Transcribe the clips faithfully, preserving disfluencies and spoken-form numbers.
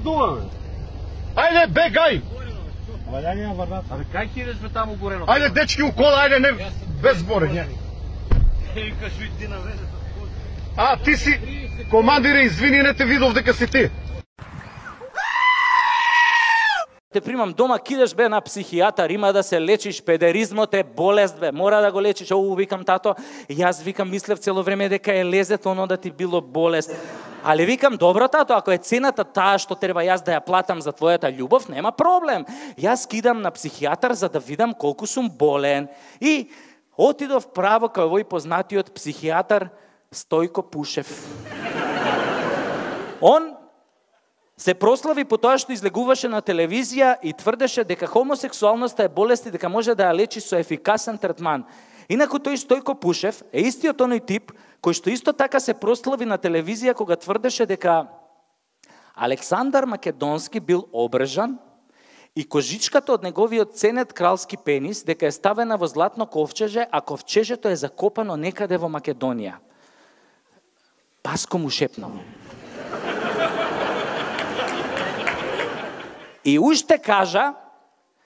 тоа? Ајде, бегај! Ама ја нема врнат. Абе, кај ќе идеш бе таму горено? Ајде, дечки, у кола, ајде, не, без зборење. Еј, кажу и ти на везето. А, ти си, командире, извини, не те видов дека си ти. Те примам дома, кидеш бе на психијатар, има да се лечиш, педеризмот е болест бе, мора да го лечиш. Оу, викам тато, јас викам мислев цело време дека е лезето, оно да ти било болест. Али викам, добро тато, ако е цената таа што треба јас да ја платам за твојата љубов, нема проблем. Јас кидам на психијатар за да видам колку сум болен. И отидов право кај овој познатиот психијатар Стојко Пушев. Он се прослави по тоа што излегуваше на телевизија и тврдеше дека хомосексуалноста е болест и дека може да ја лечи со ефикасен третман. Инаку тој Стојко Пушев е истиот оној тип кој што исто така се прослави на телевизија кога тврдеше дека Александар Македонски бил обрежан и кожичката од неговиот ценет кралски пенис дека е ставена во златно ковчеже, а ковчежето е закопано некаде во Македонија. Паско му шепнал. И уште кажа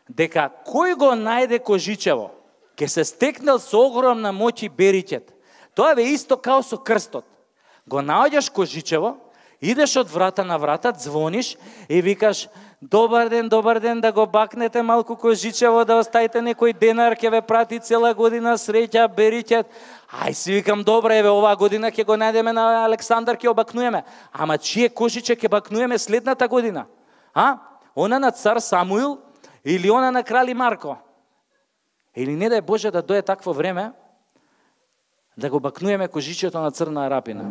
дека кој го најде кожичево, ке се стекнел со огромна моќ и бериќет. Тоа е исто као со крстот. Го наоѓаш кожичево, идеш од врата на врата, звониш и викаш: добар ден, добар ден, да го бакнете малку кожичево, да оставите некој денар, ќе ве прати цела година, среќа, бериќет. Ај си викам, добре, еве, оваа година ќе го најдеме на Александар, ќе обакнуеме. Ама чие кожиче ќе бакнуеме следната година? А? Она на цар Самуил или она на крали Марко? Или не дај Боже да дое такво време да го бакнуеме кожичето на Црна Арапина.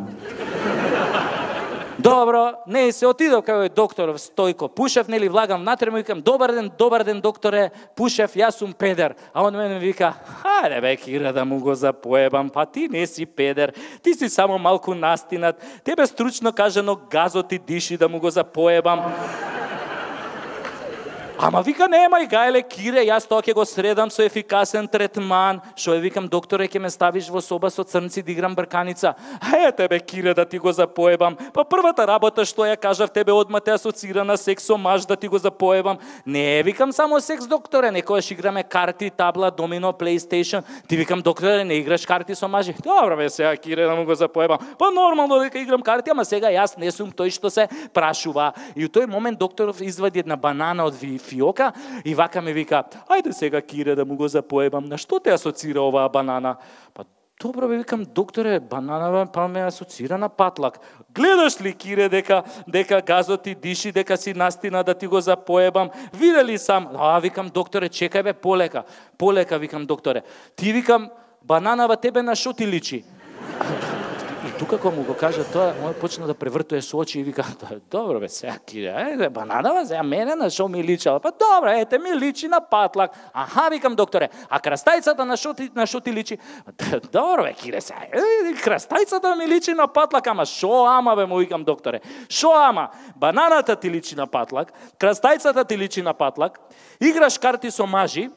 Добро, не се отидов кај доктор Стојко Пушев, нели влагам внатре, му викам: добар ден, добар ден докторе Пушев, јас сум педер. А он мене вика: хајде бе Кира да му го запоебам, па ти не си педер, ти си само малку настинат, тебе стручно кажано газот ти диши да му го запоебам. Ама вика, немај гајле Кире, јас тоа ќе го средам со ефикасен третман. Шо е, викам, докторе, ќе ме ставиш во соба со црнци да играм брканица. Е, тебе Кире да ти го запоебам. Па првата работа што ја кажав тебе одма те асоцира на секс со маж да ти го запоебам. Не, викам, само секс, докторе, некојаш играме карти, табла, домино, PlayStation. Ти викам, докторе, не играш карти со мажи. Добро бе, сега Кире да му го запоебам. Па нормално дека играм карти, ама сега јас не сум тој што се прашува. И у тој момент докторов извади една банана од фиока и вака ме вика: ајде сега Кире да му го запоебам. На што те асоцира оваа банана? Па добро бе, викам, докторе, банана па ме асоцира на патлак. Гледаш ли Кире дека дека газот ти диши, дека си настина да ти го запоебам? Видели сам? А, викам, докторе, чекај бе, полека. Полека, викам, докторе. Ти, викам, бананава тебе на шо ти личи? И тука кога му го кажа тоа, мој почна да превртува со очи и вика: добро бе, сега Кире, ајде, бананава, сега мене на шо ми личала? Па добро, ете, ми личи на патлак. Аха, викам, докторе, а крастајцата на шо ти, на шо ти личи? Добро бе, Кире, сега, е, крастајцата ми личи на патлак, ама шо ама бе, му викам, докторе? Шо ама? Бананата ти личи на патлак, крастајцата ти личи на патлак, играш карти со мажи,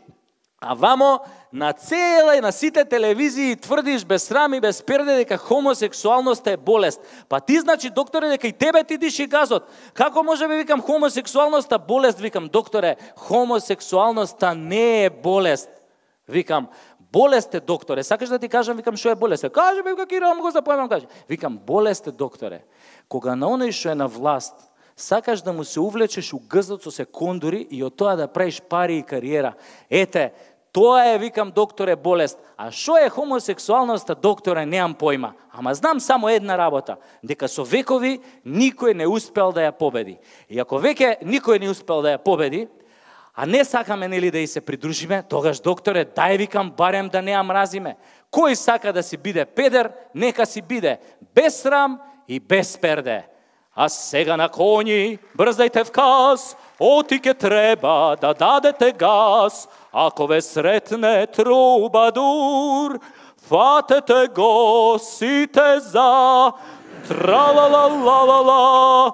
а вамо на цела и на сите телевизии тврдиш без срам и без перде дека хомосексуалноста е болест. Па ти, значи, докторе, дека и тебе ти диши газот. Како може би, викам, хомосексуалноста болест? Викам, докторе, хомосексуалноста не е болест. Викам, болест е, докторе. Сакаш да ти кажам, викам, што е болест? Кажи, вика, Кира, му го запоемам, кажи. Викам, болест е, докторе. Кога на оној што е на власт, сакаш да му се увлечеш у гзот со секундори и од тоа да правиш пари и кариера. Ете, тоа е, викам, докторе, болест. А шо е хомосексуалноста, докторе, неам појма. Ама знам само една работа, дека со векови никој не успел да ја победи. И ако веќе никој не успел да ја победи, а не сакаме, нели, да и се придружиме, тогаш, докторе, дај, викам, барем да не ја мразиме. Кој сака да си биде педер, нека си биде без срам и без перде. А сега на коњи, брзајте вказ, оти ке треба да дадете газ. Ако ве сретне трубадур, фатете го сите за тра-ла-ла-ла-ла-ла-ла.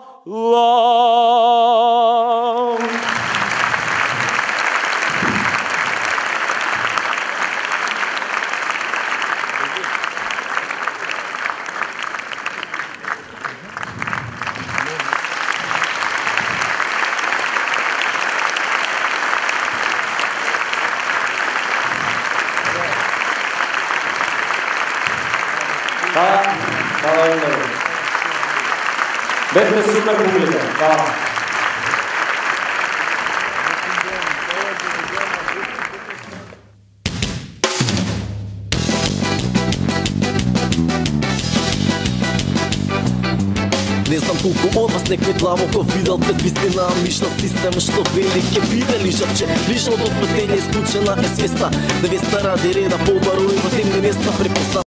Бевте супер публика. Фала. Не знам колку од вас некој длабоко видел пред вистина мишна система што вели ке биде лижавче. Лижал до плетење исклучена е свеста, девеста ради реда по барови во темни места препозна.